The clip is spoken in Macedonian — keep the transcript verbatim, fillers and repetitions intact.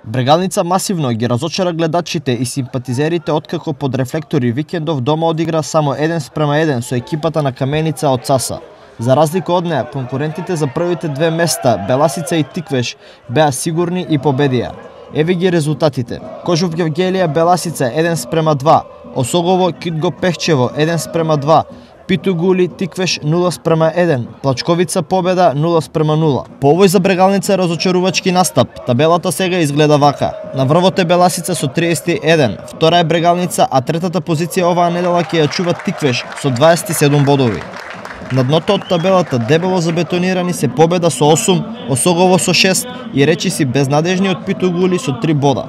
Брегалница масивно ги разочара гледачите и симпатизерите откако под рефлектори викендов дома одигра само еден спрема еден со екипата на Каменица од ЦАСА. За разлика од неа, конкурентите за првите две места, Беласица и Тиквеш, беа сигурни и победија. Еве ги резултатите. Кожув Гевгелија Беласица еден спрема два, Осогово Китго Пехчево еден спрема два, Питугули Тиквеш нула спрема еден, Плачковица победа нула спрема нула. По овој за Брегалница е разочарувачки настап. Табелата сега изгледа вака. На врвот е Беласица со триесет и еден, втора е Брегалница, а третата позиција оваа недела ќе ја чува Тиквеш со дваесет и седум бодови. На дното од табелата дебело забетонирани се Победа со осум, Осогово со шест и Речиси безнадежни од Питугули со три бода.